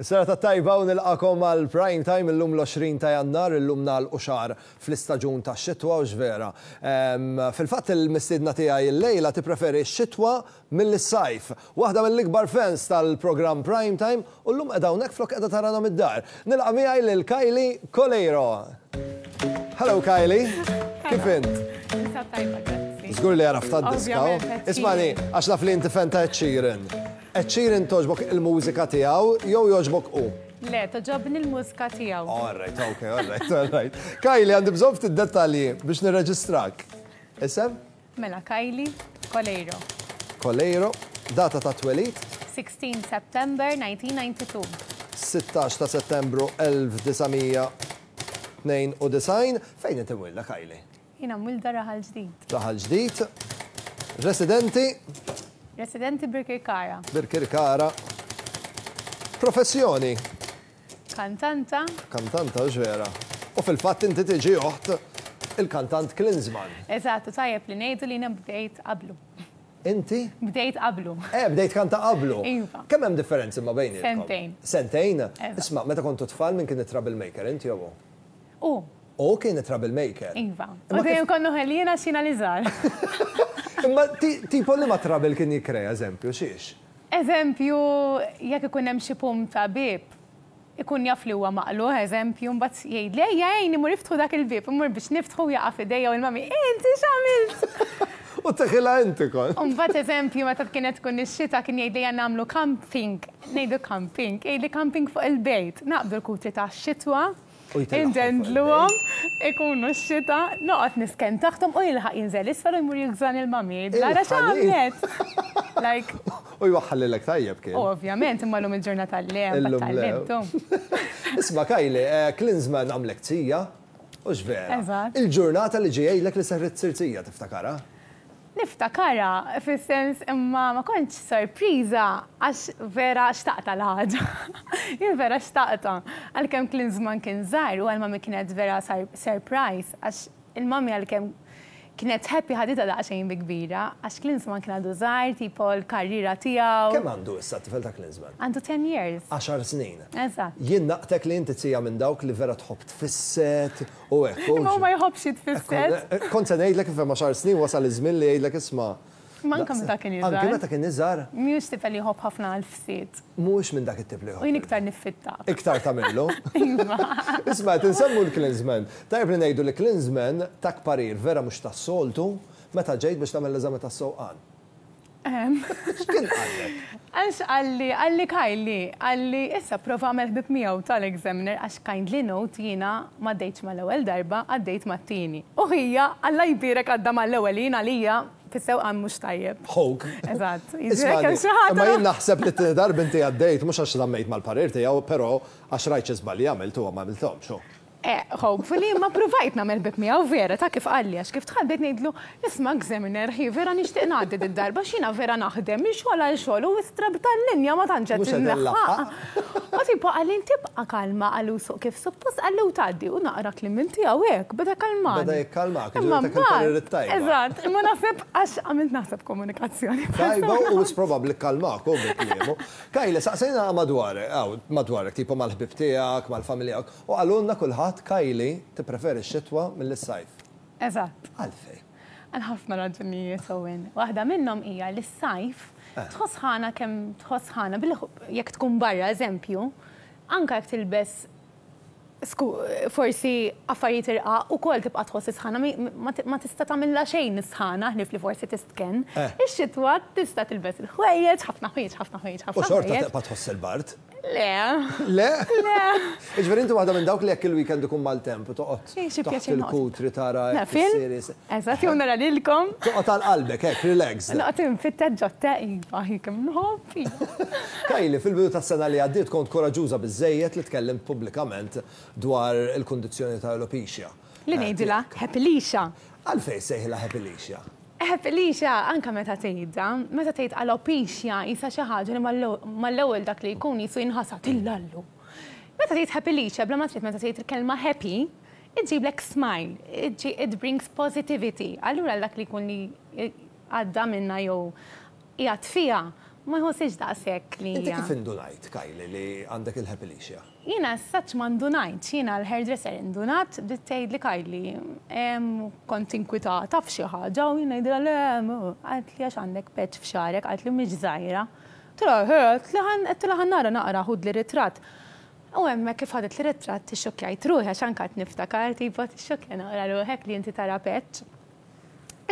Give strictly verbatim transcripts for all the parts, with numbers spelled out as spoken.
Serata tajba u nilqagħkom għal Prime Time illum l-għoxrin ta' Jannar, illum nagħlqu xahar fl-istaġun ta' xitwa u vera. Fil-fatt, il-mistidna tiegħi illejla tippreferi x-xitwa mill-sajf. Waħda mill-ikbar fans tal-programm Prime Time u llum qiegħda hawnhekk flok qiegħda tarana mid-dar. Nilqa' miegħi lil Kylie Coleiro. Hello, Kylie, kif int? Tajba, grazzi. Żgur li għaraft d-diska. Ovvjament, Ismagħni, għax naf li inti fan ta' Ed Sheeran. Ed Sheeran togħġbok il-mużika tiegħu jew jogħġbok hu? Le, togħġobni l-mużika tiegħu. All right, okay, all right, all right. Kylie, għandi bżonn ftit dettalji biex nirreġistrak. Isem? Mela, Kylie Coleiro. Coleiro, data ta' twelid? sixteen September nineteen ninety-two. sittax ta' Settembru elf disa' mija tnejn u disgħin. Fejn inti mwilda, Kylie? Jiena mwilda Raħal Ġdid. Raħal Ġdid. Residenti? Residenti Birkirkara. Birkirkara. Professjoni? Kantanta. Kantanta, vera. U fil-fatt inti tiġi oħt il-kantant Klinsman. Eżattu, tajjeb li ngħidu li jiena bdejt qablu. Inti? Bdejt qablu. Eh, bdejt kanta qablu. Iva. Kemm hemm differenzi ma bejnietkom? Sentejn. Sentejn? Eżatt. Isma', meta kontu tfal, min kien it-troublemaker, inti jew hu? U, U kien it-troublemaker. Iva. Imma U dejjem konnu ħelina xina li żgħar. Imma ti- tipo li ma trouble kien jikkrea, eżempju, xiex? Eżempju, jekk ikun hemm xi pum ta' bib, ikun jaf li huwa maqluħ, eżempju, mbagħad jgħid li ejja għinni mur iftħu dak il-bib, imur biex niftħu jaqa' f'idejja u l-mami, "Inti x'għamilt?" U teħilha inti kon. U mbagħad, eżempju, meta kienet tkun ix-xita kien jgħid li nagħmlu camping, ngħidu camping, jgħid li camping fuq il-bejt, naqbdu l-kutri ta' xitwa, U jtellagħhom fuq indendluhom, ikunu x-xita, noqgħod nisken taħthom u jilħaq jinżel isfel u jmur jigżan il-mami. Lara Il-ħanin. x'għamlet? Like, U jwaħħallilek tajjeb kien. Ovvjament, imma llum il-ġurnata le, Illum le. tal-lebtu. Isma', Kylie, eh, Klinsman għamlek tija, u vera. Eżatt. Il-ġurnata li ġejlek li serrit sirzija, tiftakara? Niftakara, fis-sens, imma ma kontx sorpriża għax vera xtaqta l-ħaġa. Jien vera xtaqta. Għalkemm Klinsman kien żgħir u għal-mami kienet vera surprise, għax il-mami, għalkemm kienet happy, ħaditha daqsxejn bi kbira għax Klinsman kien għadu żgħir, tipo l-karriera tiegħu. Kemm għandu issa t-tifel ta' Klinsman? Għandu ten years. għaxar snin. Eżatt. Jien naqtek li inti tija minn dawk li vera tħobb tfisset u hekk. u Imma hu ma jħobbx jitfisset. Eh, Kont se ngħidlek kif hemm għaxar snin wasal iż-żmien li jgħidlek, "Isma'." Ma anke meta kien Anke iżgħar. meta kien iżgħar, Mhux tifel li jħobb ħafna għal-fsiet. Mhux minn dak it-tip li U jien jħobb. iktar niffitta. Iktar tagħmillu. Iva. Isma', tinsemmu l-Klinsman. Tajb li ngħidu li Klinsman tak parir vera mhux tas-soltu meta ġejt biex tagħmel l-eżami tas-sewqan. X'kien qallek? Għax qalli, qalli, "Kylie," qalli, "issa prova għamel ħbib miegħu tal-examiner," għax kindly note, jiena ma għaddejtx mal-ewwel darba, għaddejt mat-tieni. U hija, Alla jbierek, għadda mal-ewwel, jiena lija fis-sewqan mhux tajjeb. Hawk. Eżatt. Isma', Kemm xi ħadd. imma jien naħseb li t darba inti għaddejt mhux għax żammejt mal-parir tiegħu, però għax rajt xi żbalji għamilt u ma għamilthomx. Hu. Eh, hopefully, ma provajt nagħmel ħbieb miegħu vera ta' kif qalli, għax kif dħalt bdejt ngħidlu, "Isma', examiner, hi vera nixtieq ngħaddi d-darba, xina vera naħdem minn xogħol għal xogħol u istrab tal-linja ma tantx qed Mhux qed nlaħħaq." U tipo qalli, "Tibqa' kalma," qallu, "suq kif suppost," qallu, "tgħaddi," u naqra kliem minn tiegħu hekk beda kalmani. Beda jikkalmak, Imma ġifieri dak il-parir mbagħad- it-tajba. Eżatt, imma naħseb għax għamilt naħseb komunikazzjoni. Tajba u probabbli kalmak u bil-kliemu. Kylie, saqsejna madwarek, aw, madwarek, tipo mal-ħbib tiegħek, mal-familja, u qalulna kulħadd, Kylie tippreferi x-xitwa mill-sajf. Eżatt. Għalfej? Għal ħafna raġunijiet, Owen. Waħda minnhom hija li s-sajf Eh. tħoss sħana kemm tħoss sħana bil jekk tkun barra, eżempju, anka jekk tilbes sku, forsi affarijiet irqaq ukoll tibqa' tħoss is-sħana, ma ma tista' tagħmilha xejn is-sħana ħlief li forsi tistken. Eh. Ix-xitwa tista' tilbes il-ħwejjeġ, ħafna ħwejjeġ, ħafna ħwejjeġ, U ħafna xorta ħwejjeġ. tibqa' tħoss il-bard. Le. Le? Le. Iġveri inti waħda minn dawk li jekk il-weekend ikun mal-temp u toqgħod Eh, xi taħt pjaċir noqgħod. il-kutri tara Na, hekk film? is-series. Eżatt, jew nara lilkom. Toqgħod għal qalbek hekk, relaxed. Noqgħod infittet ġotte, iva, kemm nħobb. Iva. Kylie, fil-bidu tas-sena li għaddiet kont koraġuża biżejjed li tkellimt pubblikament dwar il-kundizzjoni ta' alopecia. Li ngħidilha Happylisha. Għalfej sejħilha Happylisha? Happylisha, anka meta tgħidha, meta tgħid alopecia isa xi ħaġa li mal-ewwel dak li jkun jisu jinħasad illallu. Meta tgħid Happylisha, bla ma trid, meta tgħid il-kelma happy, iġiblek smile, it brings positivity. Allura dak li jkun li għadda minna jew qiegħed fiha, Ma jħossix daqshekk li. Inti kif indunajt, Kylie, li għandek il-alopecia? Jiena saċ ma ndunajt, jiena l-hairdresser indunat, bdiet tgħid li Kylie, kont inkwitata f'xi ħaġa u jiena ngħidilha le, qaltli għax għandek patch f'xagħrek, qaltli mhix żgħira. Għedtilha ħa nara naqra ħudli ritratt. U hemmhekk kif ħaditli ritratt ixxokkjajt ruħi għax anke qed niftakar tipo tixxokkja naqra ruħek li inti tara patch.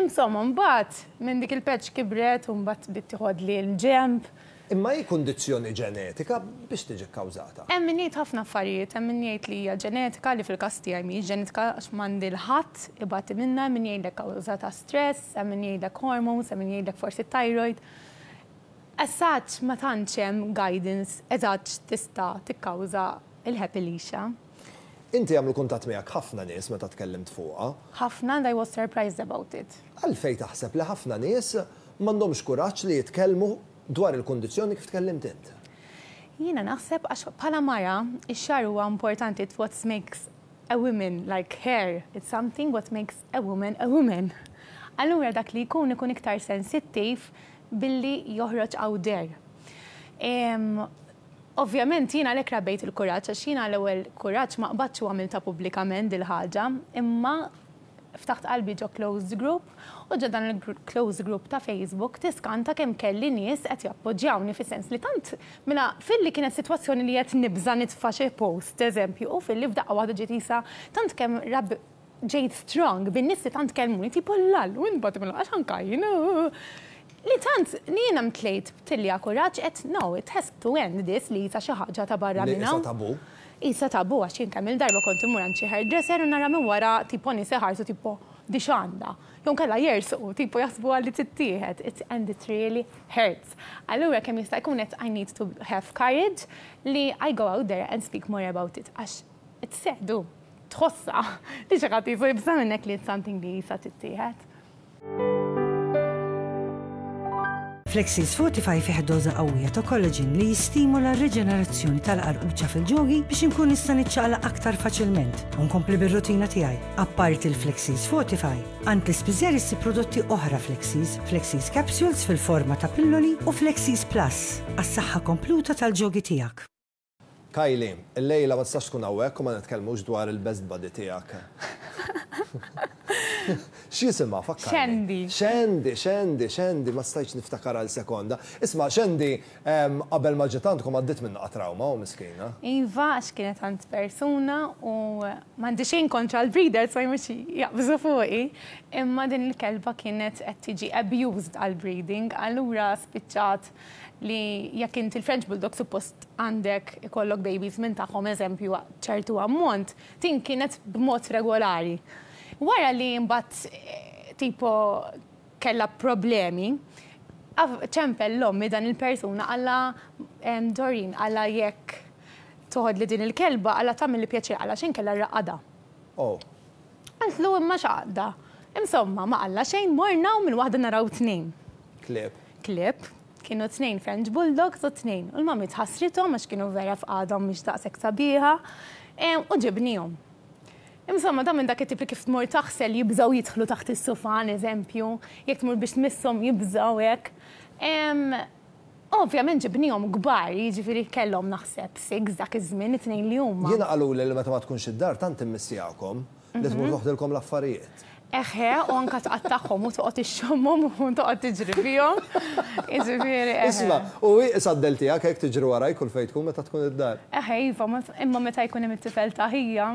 Insomma, mbagħad minn dik il-patch kibret u mbagħad bdiet tieħodli l-ġemb. Imma hi kundizzjoni ġenetika biex tiġi kkawżata? Hemm min jgħid ħafna affarijiet, hemm min jgħid li hija ġenetika li fil-każ tiegħi mhijiex ġenetika għax m'għandi 'l ħadd ibati minnha, hemm min jgħidlek kawża ta' stress, hemm min jgħidlek hormones, hemm min jgħidlek forsi thyroid. As such ma tantx hemm guidance eżatt tista' tikkawża il-alopecia. Inti għamlu kuntatt miegħek ħafna nies meta tkellimt fuqha. Ħafna and I was surprised about it. Għalfejn taħseb li ħafna nies m'għandhomx kuraġġ li jitkellmu dwar il-kundizzjoni kif tkellimt int? Jiena naħseb għax bħala mara, ix-xagħar huwa importanti it's what makes a woman like hair. It's something what makes a woman a woman. Allura dak li jkun ikun iktar sensittiv billi joħroġ out there. Ovvjament jiena għalhekk rabbejt il-kuraġġ għax jiena l-ewwel kuraġġ ma qbadx u għamilta pubblikament dil-ħaġa, imma ftaħt qalbi ġo closed group u ġo dan il-closed group ta' Facebook tiskanta kemm kelli nies qed jappoġġjawni fis-sens li tant mela filli kienet sitwazzjoni li qed nibża' nitfa' xi post, eżempju, u filli f'daqqa waħda ġiet isa tant kemm rab ġejt strong bin-nies li tant kellmuni tipo lal u nbagħad mela għax anka jien Li tant li jiena mtlejt b'tilja kuraġġ et no, it has to end this li jisa xi ħaġa ta' barra Li minna. isa tabu. Isa tabu għax jien kemm il-darba kont immur għand xi hairdresser u nara minn wara tipo nies iħarsu tipo di x'għandha. Jew kellha jersuqu tipo jaħsbu għalli tittieħed. It, and it really hurts. Allura kemm jista' jkun qed I need to have courage li I go out there and speak more about it għax it's sad tħossa li xi ħadd jisu jibża' minnek li it's something li jisa tittieħed. Flexis Fortify fih doża qawwija ta' collagen li jistimula r-reġenerazzjoni tal-qarquċa fil-ġogi biex inkun nista' niċċaqlaq aktar faċilment u nkompli bir-rutina tiegħi. Apparti l-Flexis Fortify, għand l-ispiżjar issib prodotti oħra Flexis, Flexis Capsules fil-forma ta' pilloli u Flexis Plus għas-saħħa kompluta tal-ġogi tiegħek. Kylie, il-lejla ma tistax tkun hawnhekk u ma nitkellmux dwar il-best buddy tiegħek. X'jisimha fakkarni? Shandy. Shandy, Shandy, Shandy, ma stajtx niftakar għal sekonda. Isma' Shandy, em, qabel ma ġiet għandkom għaddiet minn trauma u miskina. Iva, għax kienet għand persuna u m'għandi xejn kontra l-breeders, ma jmux jaqbżu fuqi. Imma din il-kelba kienet qed tiġi abused għal breeding, allura spiċċat li jekk inti il-French Bulldog suppost għandek ikollok babies minn tagħhom eżempju ċertu ammont, din kienet b'mod regolari. Wara li mbagħad eh, tipo kella problemi, ċempel l-ommi dan il-persuna għalla Doreen għalla jekk toħod li din il-kelba għalla tagħmel li pjaċir għalla xejn kella raqada. Oh. Għaltlu imma xaqda. Insomma, ma għalla xejn morna u minn waħda naraw tnejn. Klieb. Klieb. Kienu tnejn French Bulldogs u tnejn. U l-mami tħassrithom għax kienu vera f'qagħdhom mhix daqshekk sabiħa. U ġibnihom. Insomma, da minn dak it-tip li kif tmur taħsel jibżaw jidħlu taħt is-sufan, eżempju, jekk tmur biex tmisshom jibżaw hekk. Ovvjament ġibnihom kbar, jiġifieri kellhom naħseb six dak iż-żmien it-tnejn li huma. Jiena qalu li meta ma tkunx id-dar tant immissjakom li tmur mhm. toħdilkom l-affarijiet. Eħe, u anka tqattagħhom u toqgħod ixxommhom u toqgħod tiġri fihom. Jiġifieri. Isma' u saddel tiegħek hekk tiġri waraj kull fejn tkun meta tkun id-dar. Eħe, iva, imma meta jkun hemm it-tifel ta' ħija,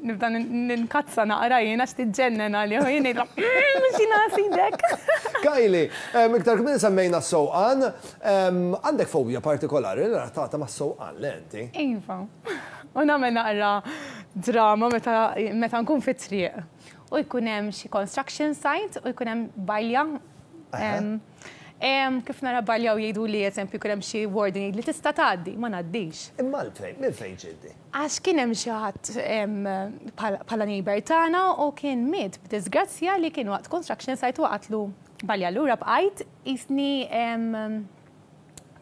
nibda ninkazza naqra jien għax tiġġennen għalih u jien ngħidla mhux jiena sidek. Kylie, iktar kmieni semmejna s-sewqan, għandek fobja partikolari li relatata ma' s-sewqan le inti? Iva. U nagħmel naqra drama meta nkun fit-triq. U jkun hemm xi construction site u jkun hemm balja. Kif nara balja u jgħidu li eżempju jkun hemm xi warden jgħid li tista' tgħaddi, ma ngħaddix. Imma l-fejn, minn fejn ġiddi? Għax kien hemm xi ħadd bħala neighbor tagħna u kien miet b'disgrazzja li kien waqt construction site u qatlu balja lura bqajt jisni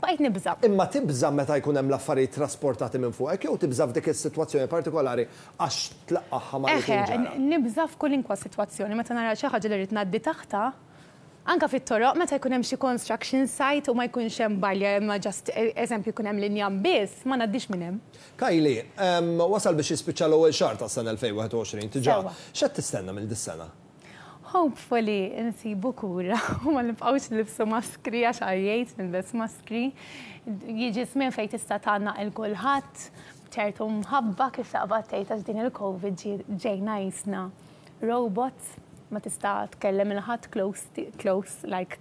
bqajt nibża. Imma tibża meta jkun hemm l-affarijiet trasportati minn fuqek jew tibża f'dik is-sitwazzjoni partikolari għax tlaqqaħħa ma' Eħe, nibża f'kulinkwa sitwazzjoni meta nara xi ħaġa li rrid ngħaddi taħta, Anka fit-toroq, meta jkun hemm xi construction site u ma jkunx hemm barrier, imma just eżempju jkun hemm linja biss, ma ngħaddix minn hemm. Kylie, wasal biex jispiċċa l-ewwel xahar tas-sena elfejn u wieħed u għoxrin diġà. X'qed tistenna minn dis-sena? Hopefully nsibu kura u ma nibqgħux nilbsu maskri, għax għajjejt nilbes maskri. Jiġi żmien fejn tista' tgħannaq lil kulħadd ċertu mħabba, kif taqbad tgħid, għax din il-COVID ġejna qisna robots, ma tista' tkellem lil ħadd close, close, like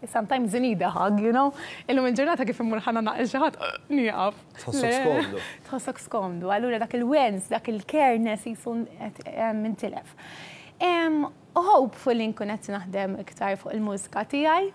sometimes you need a hug, you know? Illum il-ġurnata kif immur ħa ngħannaq lil xi ħadd, nieqaf. Tħossok skomdu. Tħossok skomdu. Allura dak il-wens, dak il-careness qisu intilef. Hopefully nkun qed naħdem iktar fuq il-mużika tiegħi,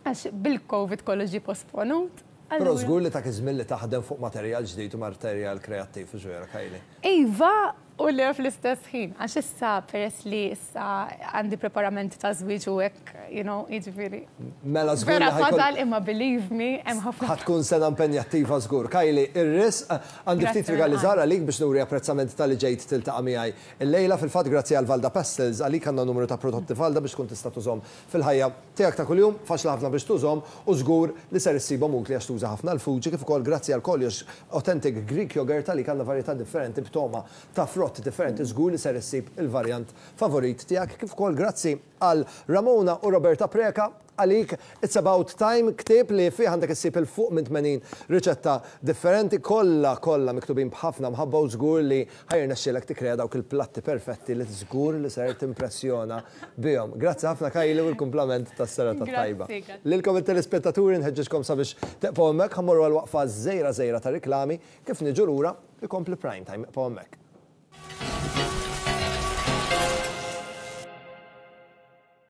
għax bil-COVID kollox ġie posponut. Però żgur li tak iż-żmien li taħdem fuq materjal ġdid u materjal kreattiv, vera, Kylie? Iva, u le fl-istess ħin. Għax issa, peress li issa għandi preparamenti ta' żwieġ u hekk, you know, jiġifieri. Mela żgur. Vera fadal, imma believe me, hemm ħafna. Ħa tkun sena impenjattiva żgur. Kylie, ir-risq għandi ftit rigali żgħar għalik biex nuri apprezzament talli ġejt tiltaqa' miegħi illejla. Fil-fatt, grazzi għal Valda Pastels, għalik għandna numru ta' prodotti Valda biex tkun tista' tużhom fil-ħajja tiegħek ta' kuljum, faċli ħafna biex tużhom u żgur li ser issibhom utli għax tuża ħafna l-Fuji, kif ukoll grazzi għal Koljox Authentic Greek Yogurt, għalik għandna varjetà differenti b'togħma ta' frott differenti, żgur li ser issib il-varjant favorit tiegħek, kif ukoll grazzi għal Ramona u Roberta Preka, għalik It's About Time, ktieb li fih għandek issib 'il fuq minn tmenin riċetta differenti, kollha kollha miktubin b'ħafna mħabba, u żgur li ħa jirnexxielek tikkrea dawk il-platti perfetti li żgur li ser timpressjona bihom. Grazzi ħafna, Kylie, u l-kumplament tas-serata tajba. Lilkom it-telespettaturi nħeġġeġkom sabiex tibqgħu hemmhekk, ħa mmorru għal waqfa żgħira żgħira ta' riklami, kif niġu lura ikompli Prime Time. Ibqgħu hemmhekk.